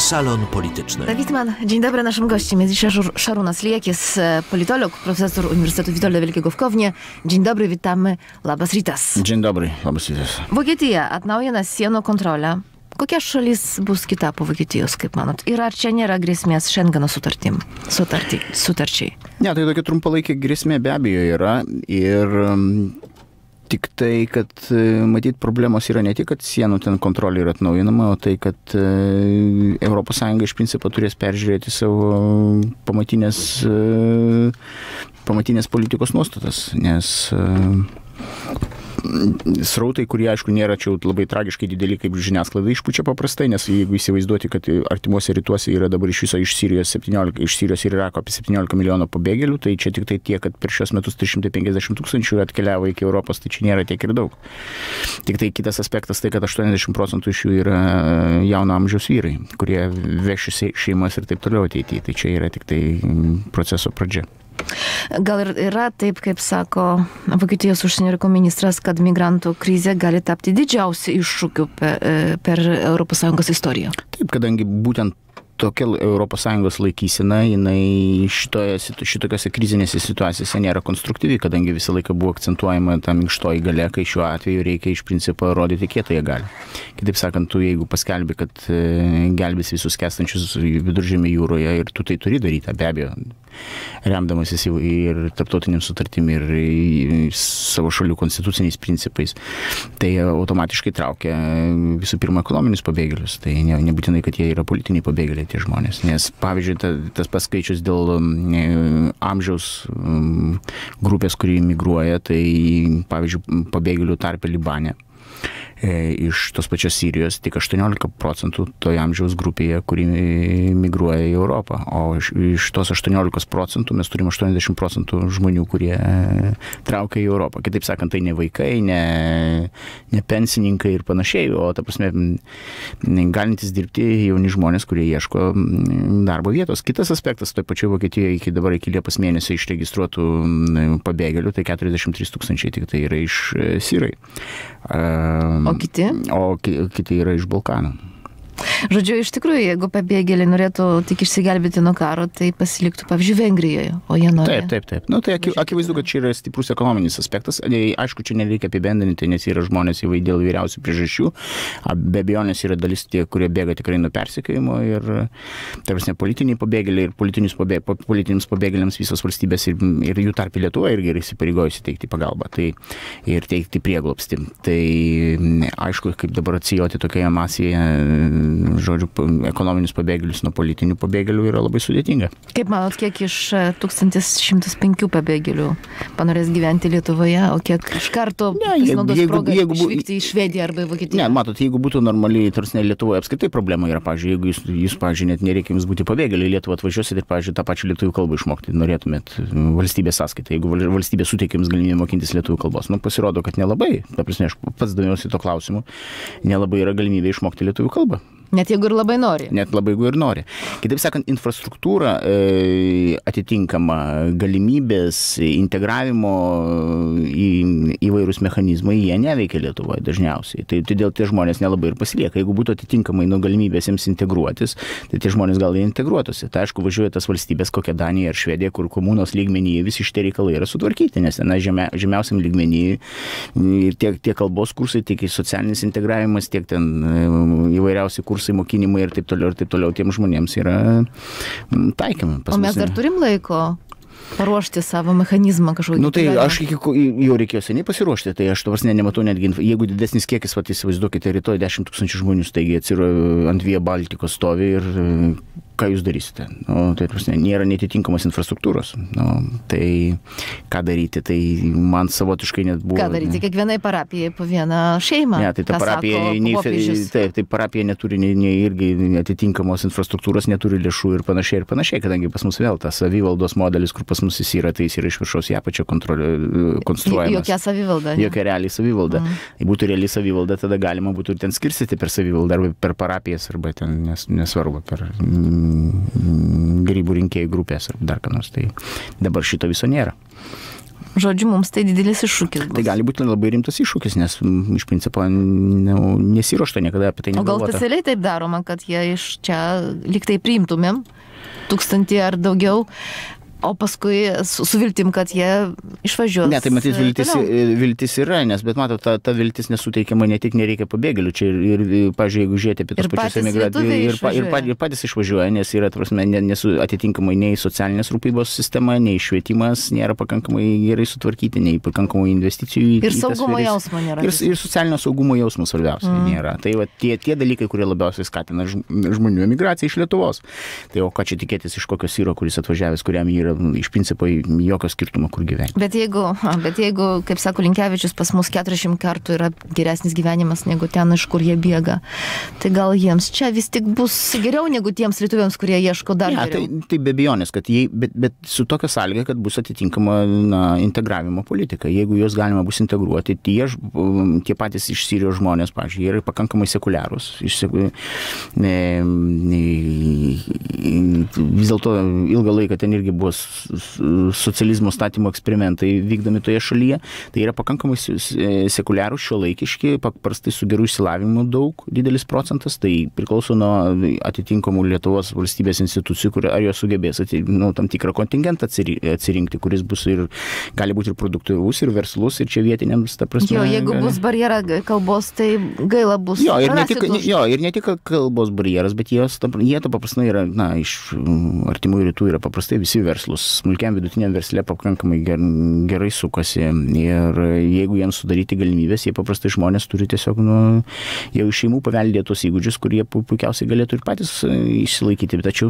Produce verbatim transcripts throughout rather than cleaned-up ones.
Salon Polityczny. Dawid Mann, dzień dobry. Naszym gościem jest dzisiaj Šarūnas Liekis, politolog, profesor Uniwersytetu Witoldo Wielkiego w Kownie. Dzień dobry, witamy. Labas rytas. Dzień dobry, labas rytas. Vokietija atnaujina sienų kontrolę. Kokia šalis bus kita po Vokietijos, kaip manot? Ir ar čia nėra grėsmės Šengeno sutartim, sutartį, sutarčiai? Ne, tai tokia trumpalaikė grėsmė be abejo yra. Ir tik tai, kad matyt problemos yra ne tik, kad sienų ten kontrolė yra atnaujinama, o tai, kad Europos Sąjunga iš principo turės peržiūrėti savo pamatinės, pamatinės politikos nuostatas, nes srautai, kurie, aišku, nėra čia labai tragiškai dideli, kaip žiniasklaida išpučia paprastai, nes jeigu įsivaizduoti, kad artimuose rytuose yra dabar iš viso iš Sirijos, septyniolika, iš Sirijos ir Irako apie septyniolika milijonų pabėgėlių, tai čia tik tai tiek, kad per šios metus trys šimtai penkiasdešimt tūkstančių atkeliavo iki Europos, tai čia nėra tiek ir daug. Tik tai kitas aspektas tai, kad aštuoniasdešimt procentų iš jų yra jauno amžiaus vyrai, kurie vešis šeimas ir taip toliau ateityje. Tai čia yra tik tai proceso pradžia. Gal ir yra taip, kaip sako Vokietijos užsienio reikalų ministras, kad migrantų krizė gali tapti didžiausiu iššūkiu per, per Europos Sąjungos istoriją? Taip, kadangi būtent tokia Europos Sąjungos laikysena, jinai šitoje, šitokiose krizinėse situacijose nėra konstruktyvi, kadangi visą laiką buvo akcentuojama ta minkštoji galia, kai šiuo atveju reikia iš principo rodyti kietąją galią. Kitaip sakant, tu jeigu paskelbi, kad gelbės visus skęstančius Viduržemio jūroje ir tu tai turi daryti, be abejo, remdamasis ir tarptautiniam sutartim ir savo šalių konstituciniais principais, tai automatiškai traukia visų pirma ekonominius pabėgėlius. Tai ne, nebūtinai, kad jie yra politiniai pabėgėliai tie žmonės. Nes, pavyzdžiui, ta, tas paskaičius dėl um, amžiaus um, grupės, kuri migruoja, tai, pavyzdžiui, pabėgėlių tarpe Libane. Iš tos pačios Sirijos tik aštuoniolika procentų toje amžiaus grupėje, kuri migruoja į Europą. O iš, iš tos aštuoniolikos procentų mes turime aštuoniasdešimt procentų žmonių, kurie traukia į Europą. Kitaip sakant, tai ne vaikai, ne, ne pensininkai ir panašiai, o ta prasme galintys dirbti jauni žmonės, kurie ieško darbo vietos. Kitas aspektas, toje pačioje Vokietijoje iki dabar iki Liepos mėnesio išregistruotų pabėgėlių, tai keturiasdešimt trys tūkstančiai tik tai yra iš Sirai. O kiti? O kiti yra iš Balkanų. Žodžiu, iš tikrųjų, jeigu pabėgėliai norėtų tik išsigelbėti nuo karo, tai pasiliktų, pavyzdžiui, Vengrijoje, o jie nori. Taip, taip, taip. Nu, tai akivaizdu, kad čia yra stiprus ekonominis aspektas. Aišku, čia nereikia apibendrinti, nes yra žmonės jau dėl vyriausių priežasčių. Be abejonės yra dalis tie, kurie bėga tikrai nuo persekiojimo ir, tarsi, politiniai pabėgėliai ir pabėg, politiniams pabėgėliams visos valstybės ir, ir jų tarp Lietuva irgi yra įsipareigojusi teikti pagalbą tai, ir teikti prieglobstį. Tai aišku, kaip dabar atsijoti tokioje masėje, žodžiu, ekonominius pabėgėlius nuo politinių pabėgėlių yra labai sudėtinga. Kaip manot, kiek iš tūkstantis šimtas penkių pabėgėlių panorės gyventi Lietuvoje, o kiek iš karto pasinaudos progą išvykti į Švediją arba į Vokietiją? Ne, matot, jeigu būtų normaliai, tarsi Lietuvoje apskritai problema yra, pavyzdžiui, jeigu jūs, jūs pavyzdžiui, net nereikia jums būti pabėgėliai, Lietuvą atvažiuosit ir, pavyzdžiui, tą pačią lietuvių kalbą išmokti, norėtumėt valstybės sąskaitą, jeigu valstybė suteikia jums galimybę mokintis lietuvių kalbos. Nu, pasirodo, kad nelabai, ta prasme, aš pats domiuosi to klausimu, nelabai yra galimybė išmokti lietuvių kalbą. Net jeigu ir labai nori. Net labai jeigu ir nori. Kitaip sakant, infrastruktūra e, atitinkama, galimybės, integravimo į įvairius mechanizmai, jie neveikia Lietuvoje dažniausiai. Tai todėl tie žmonės nelabai ir pasilieka. Jeigu būtų atitinkamai nuo galimybės jiems integruotis, tai tie žmonės gal integruotųsi. Tai aišku, važiuoja tas valstybės, kokia Danija ar Švedija, kur komunos lygmenyje visi šitie reikalai yra sutvarkyti, nes na, žemia, žemiausiam lygmenyje tiek, tiek kalbos kursai, tiek socialinis integravimas, tiek ten įvairiausi kursai, mokinimai ir taip toliau ir taip toliau tiems žmonėms yra taikymai. O mes dar turim laiko paruošti savo mechanizmą kažkokį. Nu tai aš iki, jau reikėjo seniai pasiruošti, tai aš tavars ne, nematau netgi, jeigu didesnis kiekis, vat įsivaizduokite, rytoj dešimt tūkstančių žmonių staigiai atsiro ant Via Baltikos stovi ir ką jūs darysite? Nu, tai prasme, nėra netitinkamos infrastruktūros. Nu, tai ką daryti? Tai man savotiškai net buvo... Ką daryti? Kiekvienai parapijai po vieną šeimą. Ne, tai ta parapija, nei, taip, tai parapija neturi nei, nei irgi atitinkamos infrastruktūros, neturi lėšų ir panašiai ir panašiai, kadangi pas mus vėl tas savivaldos modelis, kur pas mus jis yra, tai jis yra iš viršaus į apačią konstruojamas. Jokia savivalda. Ne? Jokia realiai savivalda. Mm. Jei būtų realiai savivalda, tada galima būtų ten skirstyti per savivaldą arba per parapijas, arba ten nes, nesvarbu, per grybų rinkėjų grupės ar dar ką nors. Tai dabar šito viso nėra. Žodžiu, mums tai didelis iššūkis bus. Tai gali būti labai rimtas iššūkis, nes iš principo nu, nesiruošta niekada apie tai negalvota. O gal specialiai taip daroma, kad jie iš čia lyg tai priimtumėm tūkstantį ar daugiau, o paskui su, su viltim, kad jie išvažiuos. Ne, tai matyt, viltis, viltis yra, nes, bet matot, ta, ta viltis nesuteikiama, ne tik nereikia pabėgėlių, čia ir, ir pažiūrėjau, jeigu žiūrėti apie tos pačius emigrantus, ir, ir, ir, ir patys išvažiuoja, nes yra, prasme, nesu atitinkamai nei socialinės rūpybos sistema, nei švietimas nėra pakankamai gerai sutvarkyti, nei pakankamai investicijų. Ir saugumo jausmo nėra. Ir, ir socialinio saugumo jausmo svarbiausia mm. nėra. Tai va, tie, tie dalykai, kurie labiausiai skatina žmonių emigraciją iš Lietuvos. Tai o ką čia tikėtis iš kokio syro, kuris atvažiavęs, kuriam yra iš principo jokio skirtumo, kur gyventi. Bet jeigu, bet jeigu, kaip sako Linkevičius, pas mus keturiasdešimt kartų yra geresnis gyvenimas negu ten, iš kur jie bėga, tai gal jiems čia vis tik bus geriau negu tiems lietuviams, kurie ieško dar ja, geriau. Tai, tai be abejonės, kad jie, bet, bet su tokia sąlyga, kad bus atitinkama na, integravimo politika. Jeigu juos galima bus integruoti, tie, tie patys iš Sirijos žmonės, pavyzdžiui, jie yra pakankamai sekuliarūs. Iš, ne, ne, vis dėlto ilgą laiką ten irgi buvo socializmo statymo eksperimentai vykdomi toje šalyje, tai yra pakankamai sekuliarūs, šiuolaikiški, paprastai su geru išsilavinimu daug, didelis procentas, tai priklauso nuo atitinkamų Lietuvos valstybės institucijų, kur, ar jos sugebės ati, nu, tam tikrą kontingentą atsirinkti, kuris bus ir, gali būti ir produktyvus, ir verslus, ir čia vietiniams, ta prasme. Jo, jeigu gali... bus barjera kalbos, tai gaila bus. Jo, ir ne tik, jo, ir ne tik kalbos barjeras, bet jos, jie to paprastai yra, na, iš artimųjų rytų yra paprastai visi verslus. Smulkiam vidutiniam versle pakankamai gerai sukasi ir jeigu jiems sudaryti galimybės, jie paprastai žmonės turi tiesiog nu, jau iš šeimų paveldėtos įgūdžius, kurie puikiausiai galėtų ir patys išsilaikyti, tačiau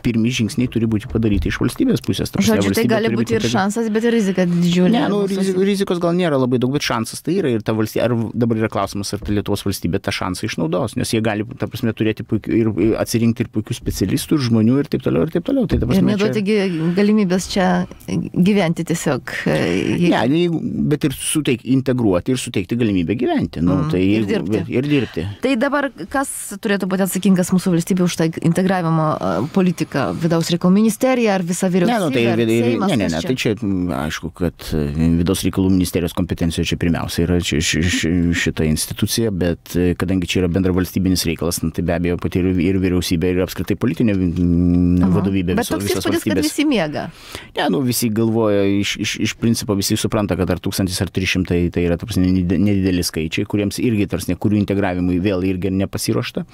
pirmi žingsniai turi būti padaryti iš valstybės pusės. Žodžiu, tai gali būti ir šansas, bet ir rizika didžiulė. Ne, nu, rizikos gal nėra labai daug, bet šansas tai yra ir ta valstybė, ar dabar yra klausimas, ar ta Lietuvos valstybė tą šansą išnaudos, nes jie gali, ta prasme, turėti puikių, ir atsirinkti ir puikių specialistų, ir žmonių, ir taip toliau, ir taip toliau. Tai, ta prasme, ir neduoti čia... galimybės čia gyventi tiesiog. Jeigu... Ne, bet ir suteik, integruoti ir suteikti galimybę gyventi. Nu, mm, tai ir, jeigu, dirbti. ir dirbti. Tai dabar kas turėtų būti atsakingas mūsų valstybė už tą integravimo politiką? Vidaus reikalų ministerija ar visa vyriausybė? Ne, nu, tai, ar Seimas, ne, ne, ne, tai čia aišku, kad vidaus reikalų ministerijos kompetencijoje čia pirmiausia yra čia, ši, ši, šita institucija, bet kadangi čia yra bendra valstybinis reikalas, nu, tai be abejo pati ir, ir vyriausybė, ir apskritai politinė vadovybė visos, visos valstybės. Bet toks įspūdis, kad visi miega. Ne, nu, visi galvoja, iš, iš, iš principo visi supranta, kad ar tūkstantis ar trys šimtai tai yra tarsi nedideli skaičiai, kuriems irgi tarsi kurių integravimui vėl irgi nepasiruošta.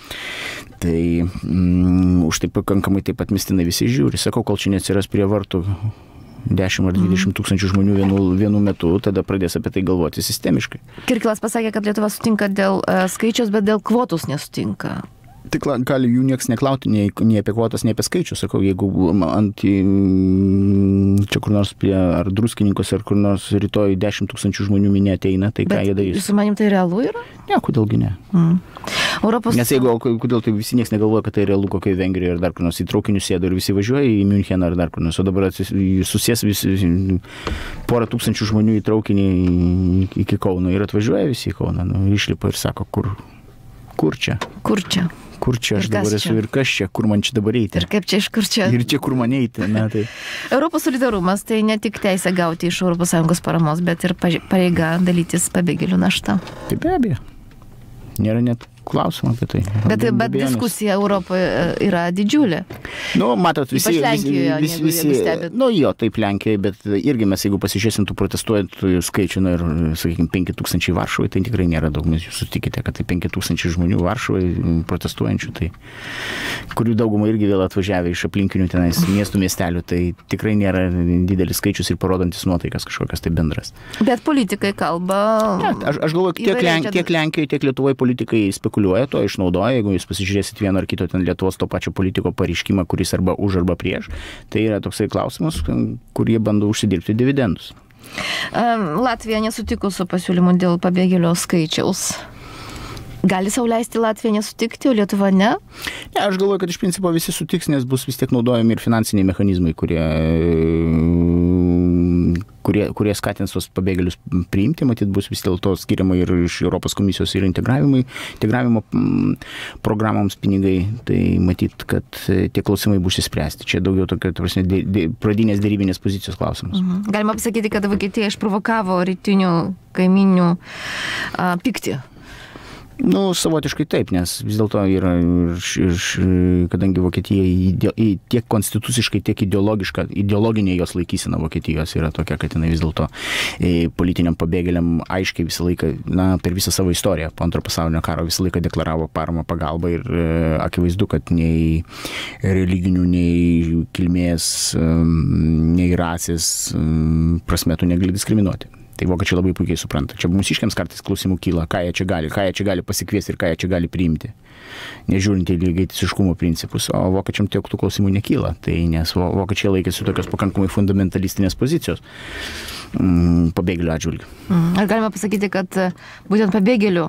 Tai mm, už tai pakankamai taip pat mistinai visi žiūri. Sakau, kol čia neatsiras prie vartų dešimt ar dvidešimt tūkstančių žmonių vienu, vienu metu, tada pradės apie tai galvoti sistemiškai. Kirkilas pasakė, kad Lietuva sutinka dėl uh, skaičiaus, bet dėl kvotos nesutinka. Tik gali jų nieks neklauti, nei, nei apie kvotas, nei apie skaičių. Sakau, jeigu ant čia kur nors prie ar druskininkos, ar kur nors rytoj dešimt tūkstančių žmonių minė ateina, tai bet ką jie darys? Jūsų manim tai realu yra? Ne, kodėlgi ne. Mm. Europos... Nes jeigu, kodėl tai visi nieks negalvoja, kad tai realu kokioje Vengrijoje ar dar kur nors į traukinių sėdo ir visi važiuoja į Müncheną ar dar kur nors, o dabar susės visi porą tūkstančių žmonių į traukinį iki Kauno ir atvažiuoja visi į Kauną, nu, išlipa ir sako, kur, kur čia? Kur čia? Kur čia aš dabar esu ir kas čia, kur man čia dabar eiti. Ir kaip čia iš kur čia. Ir čia kur man eiti. Na, tai... Europos solidarumas tai ne tik teisė gauti iš Europos Sąjungos paramos, bet ir pareiga dalytis pabėgėlių naštą. Tai be abejo. Nėra net klausimą apie tai. Bet, bet diskusija Europoje yra didžiulė. Nu, matot, visi... Ypač Lenkijoje, visi, visi, visi, nu, jo, taip Lenkijoje, bet irgi mes, jeigu pasižiūrėsim tų protestuojančių skaičių, nu, ir, sakykime, penki tūkstančiai Varšuvai, tai tikrai nėra daug. Mes jūs sutikite, kad tai penki tūkstančiai žmonių Varšuvai protestuojančių, tai kurių daugumą irgi vėl atvažiavę iš aplinkinių tenais miestų, miestelių, tai tikrai nėra didelis skaičius ir parodantis nuotaikas kažkokias tai bendras. Bet politikai kalba... Ja, aš, aš galvoju, tiek, Lenk, tiek Lenkijoje, tiek Lietuvoje politikai spekuliuoja, to išnaudoja, jeigu jūs pasižiūrėsit vieno ar kito ten Lietuvos to pačio politiko pareiškimą, kuris arba už arba prieš, tai yra toksai klausimas, kurie bando užsidirbti dividendus. Latvija nesutiko su pasiūlymu dėl pabėgėlio skaičiaus. Gali sau leisti Latvija nesutikti, o Lietuva ne? Ne, aš galvoju, kad iš principo visi sutiks, nes bus vis tiek naudojami ir finansiniai mechanizmai, kurie, kurie, kurie skatins tos pabėgėlius priimti, matyt, bus vis dėlto skiriama ir iš Europos komisijos ir integravimo programoms pinigai, tai matyt, kad tie klausimai bus įspręsti. Čia daugiau tokio, prasme, dė, dė, pradinės dėrybinės pozicijos klausimas. Mhm. Galima pasakyti, kad Vokietija išprovokavo rytinių kaiminių a, pyktį. Nu, savotiškai taip, nes vis dėlto yra, iš, kadangi Vokietija ide, tiek konstituciškai, tiek ideologiška, ideologinė jos laikysena Vokietijos yra tokia, kad jinai vis dėlto politiniam pabėgėliam aiškiai visą laiką, na, per visą savo istoriją, po antro pasaulinio karo visą laiką deklaravo paramą pagalbą ir akivaizdu, kad nei religinių, nei kilmės, nei rasės prasme tu negali diskriminuoti. Tai vokiečiai labai puikiai supranta. Čia mūsiškiams kartais klausimų kyla, ką jie čia gali, ką jie čia gali pasikviesti ir ką jie čia gali priimti. Nežiūrint į lygiateisiškumo principus, o vokiečiam tiek tų klausimų nekyla. Tai nes vokiečiai laikėsi tokios pakankamai fundamentalistinės pozicijos mm, pabėgėlių atžvilgių. Ar galima pasakyti, kad būtent pabėgėlių,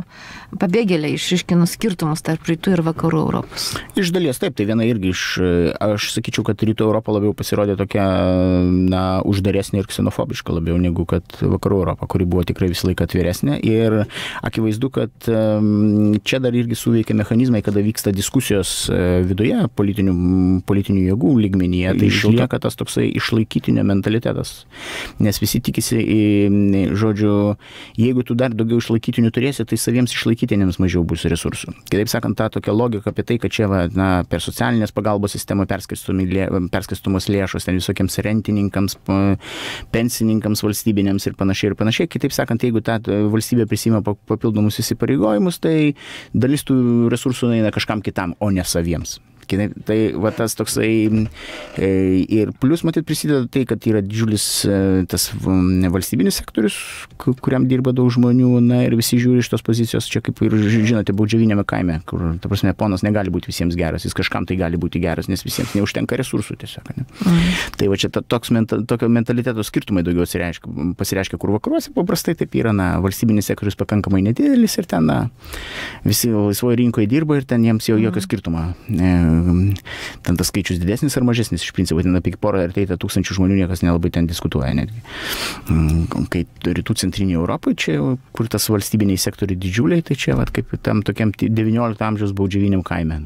pabėgėliai išryškino skirtumus tarp rytų ir vakarų Europos? Iš dalies taip, tai viena irgi iš, aš sakyčiau, kad rytų Europa labiau pasirodė tokia, na, uždaresnė ir ksenofobiška labiau negu kad vakarų Europa, kuri buvo tikrai visą laiką atviresnė. Ir akivaizdu, kad čia dar irgi suveikia mechanizmai, kada vyksta diskusijos viduje politinių, politinių jėgų lygmenyje, tai išlieka tas toksai išlaikytinio mentalitetas. Nes visi tikisi, žodžiu, jeigu tu dar daugiau išlaikytinių turėsi, tai saviems išlaikytiniams mažiau bus resursų. Kitaip sakant, ta tokia logika apie tai, kad čia va, na, per socialinės pagalbos sistemą perskirstomos lėšos ten visokiems rentininkams, pensininkams, valstybinėms ir panašiai ir panašiai. Kitaip sakant, jeigu ta valstybė prisima papildomus įsipareigojimus, tai dalis tų resursų eina kažkam kitam, o ne saviems. Tai va tas toksai ir plus matyt prisideda tai, kad yra didžiulis tas valstybinis sektorius, kuriam dirba daug žmonių, na ir visi žiūri iš tos pozicijos, čia kaip ir žinote, baudžiaviniame kaime, kur, ta prasme, ponas negali būti visiems geras, jis kažkam tai gali būti geras, nes visiems neužtenka resursų tiesiog. Ne? Mm. Tai va čia ta, toks menta, tokio mentaliteto skirtumai daugiau pasireiškia, kur vakaruose paprastai taip yra, na, valstybinis sektorius pakankamai nedidelis ir ten, na, visi laisvoje rinkoje dirba ir ten jiems jau jokio skirtumo. Ten tas skaičius didesnis ar mažesnis, iš principo, ten apie porą ar teitą tūkstančių žmonių niekas nelabai ten diskutuoja netgi. Kai rytų centrinėje Europoje, čia, kur tas valstybiniai sektoriai didžiuliai, tai čia, vat, kaip tam tokiam devyniolikto amžiaus baudžiaviniam kaime.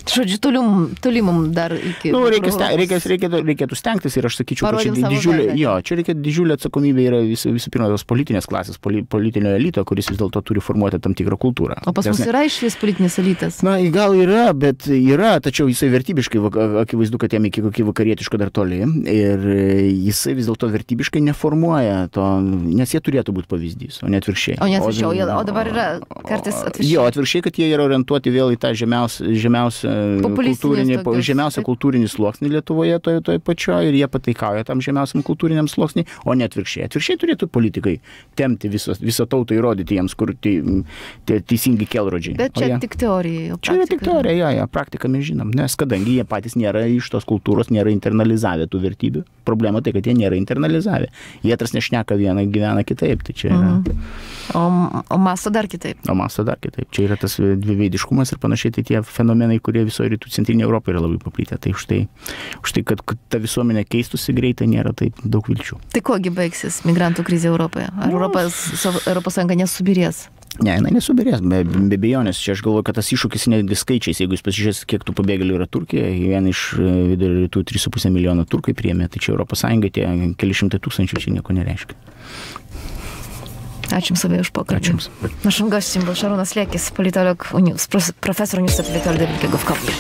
Žodžiu, tolim, tolimum dar iki... Nu, reikia, reikia, reikėtų, reikėtų stengtis ir aš sakyčiau, kad čia didžiulė, jo, čia reikia didžiulė atsakomybė yra vis, visų pirma tos politinės klasės, poli, politinio elito, kuris vis dėlto turi formuoti tam tikrą kultūrą. O pas mus yra išvis politinis elitas? Na, gal yra, bet yra, tačiau jisai vertybiškai, akivaizdu, kad jam iki kokį vakarietiško dar toli ir jisai vis dėlto vertybiškai neformuoja to, nes jie turėtų būti pavyzdys, o ne atvirkščiai. O ne atvirkščiai, o, o dabar yra kartais atvirkščiai. Jo, atvirkščiai, kad jie yra orientuoti vėl į tą žemiausią, žemiausią kultūrinį, žemiausią kultūrinį sluoksnį Lietuvoje toje toje pačioje ir jie pataikauja tam žemiausiam kultūriniam sluoksnį, o ne atvirkščiai. Atvirkščiai turėtų politikai temti visą, visą tautą, įrodyti jiems, kur tie, tie teisingi kelrodžiai. Bet čia jie, tik teorija. Čia yra tik teorija, ja, ja, praktiką mes žinom, nes kadangi jie patys nėra iš tos kultūros, nėra internalizavę tų vertybių. Problema tai, kad jie nėra internalizavę. Jie tas nešneka vieną, gyvena kitaip. Tai čia yra... Mm. O, o masto dar kitaip. O masto dar kitaip. Čia yra tas dviveidiškumas ir panašiai, tai tie fenomenai, kurie visoje rytų centrinėje Europoje yra labai paplitę. Tai už tai, už tai kad, kad ta visuomenė keistųsi greitai, nėra taip daug vilčių. Tai kogi baigsis migrantų krizė Europoje? Ar no. Europos, Europos Sąjunga nesubirės? Ne, jinai nesubirės, be, be bejonės. Čia aš galvoju, kad tas iššūkis netgi skaičiais, jeigu jūs pasižiūrės, kiek tų pabėgėlių yra Turkija, vien iš vidurio rytų trys su puse milijono turkai priėmė, tai čia Europos Sąjunga tie keli šimtai tūkstančių čia nieko nereiškia. Ačiū Jums labai už pokalbį. Naszym gościem był Šarūnas Liekis, politolog, profesor Uniwersytetu Witolda Wielkiego w Kopnie.